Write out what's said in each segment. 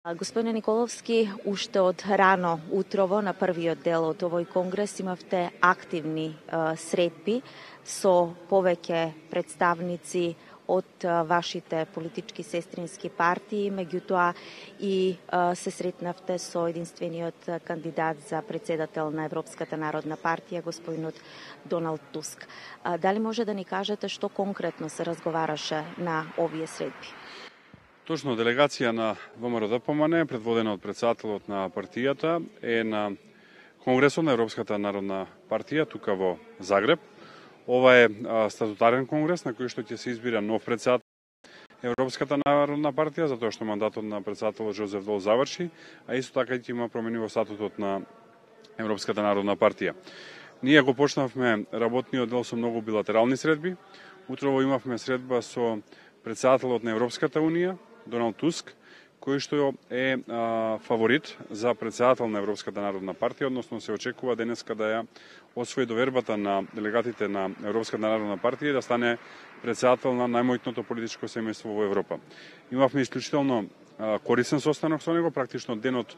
Господине Николовски, уште од рано утрово на првиот дел од овој конгрес имавте активни средби со повеќе представници од вашите политички сестрински партии, меѓутоа и се сретнавте со единствениот кандидат за председател на Европската народна партија, господинот Доналд Туск. Дали може да ни кажете што конкретно се разговараше на овие средби? Точно, делегација на ВМРО-ДПМН, предводена од председателот на партијата, е на Конгресот на Европската народна партија, тука во Загреб. Ова е статутарен конгрес на кој што ќе се избира нов председател на Европската народна партија, затоа што мандатот на председателот Жозеф Дол заврши, а исто така ќе има промени во статутот на Европската народна партија. Ние го почнавме работниот дел со многу билатерални средби. Утрово имавме средба со председателот на Европската унија, Доналд Туск, кој што е фаворит за председател на Европската народна партија, односно се очекува денеска да ја освои довербата на делегатите на Европската народна партија и да стане председател на најмојтното политичко семејство во Европа. Имавме исклучително корисен состанок со него, практично денот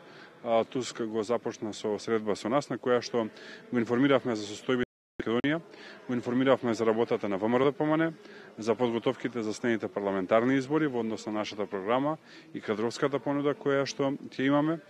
Туск го започна со средба со нас, на која што го информиравме за состојбите Македонија, го информиравме за работата на ВМРО-ДПМН, за подготовките за следните парламентарни избори во однос на нашата програма и кадровската понуда која што ќе имаме.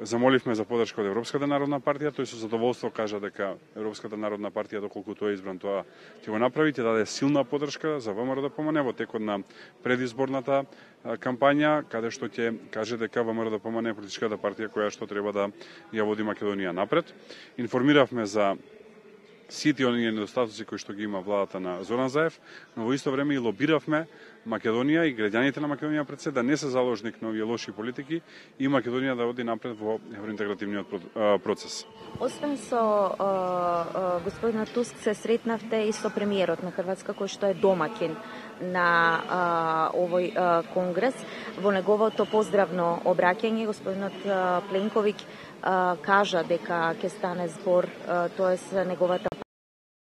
Замоливме за подршка од Европската народна партија, тој со задоволство кажа дека Европската народна партија, доколку тој е избран, тоа ќе го направи, ќе даде силна подршка за ВМРО-ДПМН во текот на предизборната кампања, каде што ќе каже дека ВМРО-ДПМН е политичката партија која што треба да ја води Македонија напред. Информиравме за сите оние недостатоци кои што ги има владата на Зоран Заев, но во исто време и лобиравме Македонија и граѓаните на Македонија пред се да не се заложник на овие лоши политики и Македонија да оди напред во евроинтегративниот процес. Освен со господинот Туск се сретнавте и со премиерот на Хрватска, кој што е домакин на овој конгрес. Во неговото поздравно обраќање господинот Пленковиќ кажа дека ќе стане збор, тоест неговата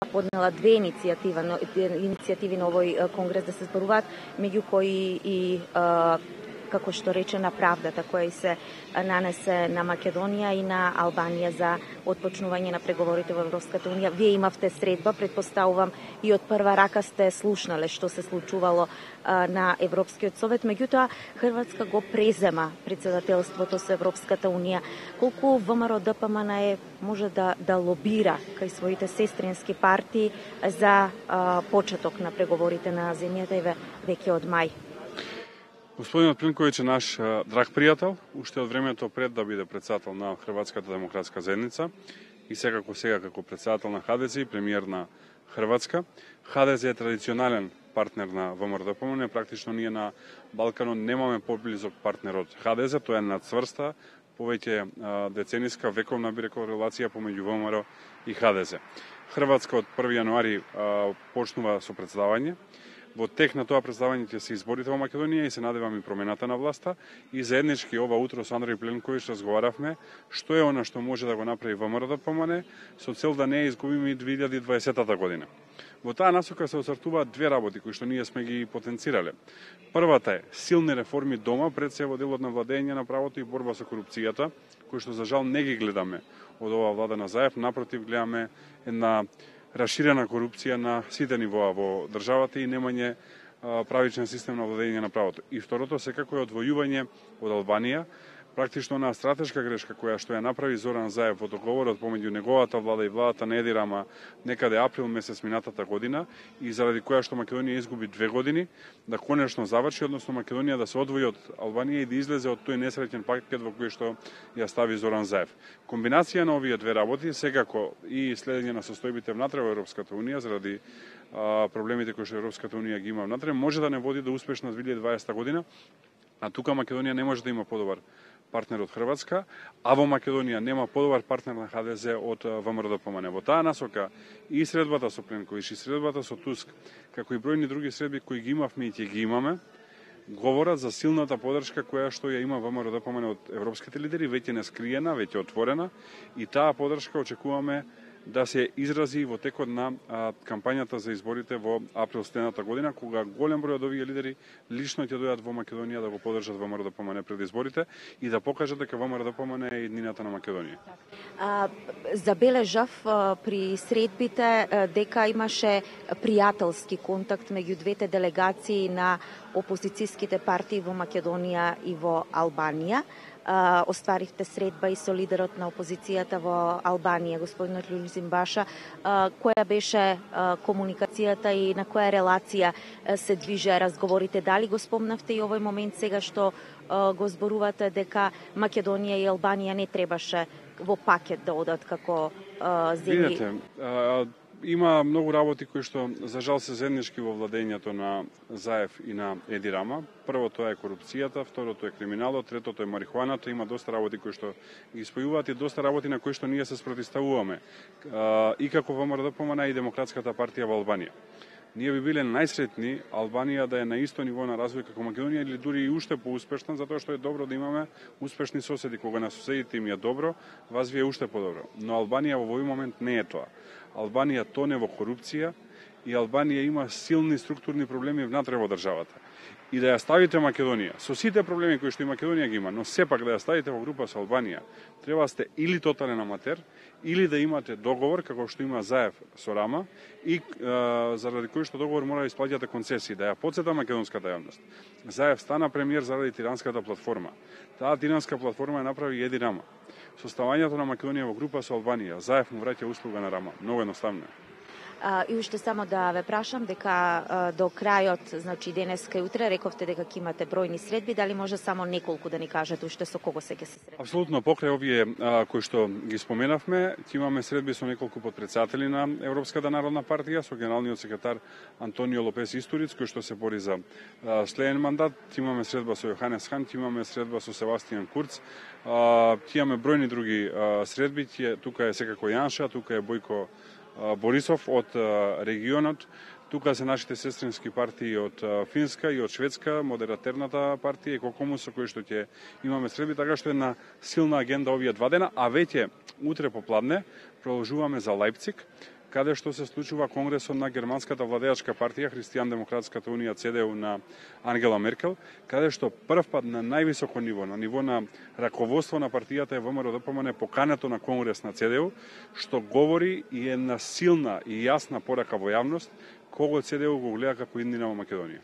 поднела две иницијативи на овој конгрес да се зборуваат, меѓу кои и како што рече на правдата која се нанесе на Македонија и на Албанија за отпочнување на преговорите во Европската унија. Вие имавте средба, предпоставувам и од прва рака сте слушнале што се случувало на Европскиот совет, меѓутоа Хрватска го презема председателството со Европската унија. Колку ВМРО-ДПМН може да лобира кај своите сестрински партии за почеток на преговорите на земјата и веќе од мај? Господинот Пленковиќ е наш драг пријател, уште од времето пред да биде председател на Хрватската демократска заедница и секако сега како председател на ХДЗ и премиер на Хрватска. ХДЗ е традиционален партнер на ВМРО-ДПМН, практично ние на Балканот немаме поблизок партнер од ХДЗ, тоа е нацврста, повеќе децениска, вековна би рекол релација помеѓу ВМРО и ХДЗ. Хрватска од 1 јануари почнува со председавање. Во тек на тоа представање ќе се изборите во Македонија и се надеваме промената на власта и заеднички ова утро со Андреј Пленковиќ разговаравме што е она што може да го направи ВМРО-ДПМН со цел да не изгубиме и 2020 година. Во таа насока се оцртуваат две работи кои што ние сме ги потенцирале. Првата е силни реформи дома, пред се во делот на владење на правото и борба со корупцијата, кои што за жал не ги гледаме од оваа влада на Заев, напротив гледаме една расширена корупција на сите нивоа во државата и немање правичен систем на владење на правото. И второто секако е одвојување од Албанија, практично на стратешка грешка која што ја направи Зоран Заев во договорот помеѓу неговата влада и владата на Еди Рама некаде април месец минатата година и заради која што Македонија изгуби 2 години да конечно заврши, односно Македонија да се одвои од Албанија и да излезе од тој несреќен пакет во кој што ја стави Зоран Заев. Комбинација на овие две работи, секако и следење на состојбите внатре во Европската унија заради проблемите кои што Европската унија ги има внатре, може да не води до успешна 2020 година, а тука Македонија не може да има подобар партнер од Хрватска, а во Македонија нема подобар партнер на ХДЗ од ВМРО-ДПМН. Во таа насока и средбата со Пленковиќ, и средбата со Туск, како и бројни други средби кои ги имавме и ќе ги имаме, говорат за силната подршка која што ја има ВМРО-ДПМН од европските лидери, веќе не скриена, веќе отворена, и таа подршка очекуваме да се изрази во текот на кампањата за изборите во април следната година, кога голем број од овие лидери лично ќе дојдат во Македонија да го поддржат ВМРО-ДПМН пред изборите и да покажат дека ВМРО-ДПМН е еднината на Македонија. Забележав при средбите дека имаше пријателски контакт меѓу двете делегации на опозицијските партии во Македонија и во Албанија. Остваривте средба и со лидерот на опозицијата во Албанија, господинот Љулзим Баша. Која беше комуникацијата и на која релација се движеа разговорите? Дали го спомнавте и овој момент сега што го зборувате дека Македонија и Албанија не требаше во пакет да одат како земји? Видете, има многу работи кои што за жал се заеднички во владењето на Заев и на Еди Рама. Првото е корупцијата, второто е криминалот, третото е марихуаната. Има доста работи кои што ги спојуваат и доста работи на кои што ние се спротивставуваме и како ВМРО-ДПМН и Демократската партија во Албанија. Ние би биле најсретни Албанија да е на исто ниво на развој како Македонија или дури и уште поуспешна, затоа што е добро да имаме успешни соседи. Кога на соседите им е добро, вас ви е уште подобро. Но Албанија во овој момент не е тоа. Албанија тоне во корупција и Албанија има силни структурни проблеми внатре во државата. И да ја ставите Македонија, со сите проблеми кои што и Македонија ги има, но сепак да ја ставите во група со Албанија, треба да сте или тотален аматер, или да имате договор, како што има Заев со Рама, и заради кој што договор мора да исплаќате концесии. Да ја подсета македонската јавност. Заев стана премиер заради тиранската платформа. Таа тиранска платформа ја направи Еди Рама. Со ставањето на Македонија во група со Албанија, Заев му враќа услуга на Рама. Многу едноставно. И уште само да ве прашам дека до крајот, значи денеска и утре, рековте дека ќе имате бројни средби, дали може само неколку да ни кажете уште со кого се ќе се средби? Апсолутно, покрај овие кои што ги споменавме, ќе имаме средби со неколку потпредседатели на Европската народна партија, со генералниот секретар Антонио Лопес Истуриц, кој што се бори за следен мандат, ќе имаме средба со Јоханес Хан, ќе имаме средба со Себастијан Курц, ќе имаме бројни други средби, тука е секако Јанша, тука е Бојко Борисов од регионот, тука се нашите сестрински партии од Финска и од Шведска, модератерната партија и Кокомус со кои што ќе имаме средби, така што е една силна агенда овие 2 дена, а веќе утре попладне продолжуваме за Лајпциг, каде што се случува конгресот на германската владеачка партија Христијан-демократската унија ЦДУ на Ангела Меркел, каде што прв пат на највисоко ниво, на ниво на раководство на партијата е ВМРО-ДПМН покането на конгрес на ЦДУ, што говори и една силна и јасна порака во јавност кого ЦДУ го гледа како иднина во Македонија.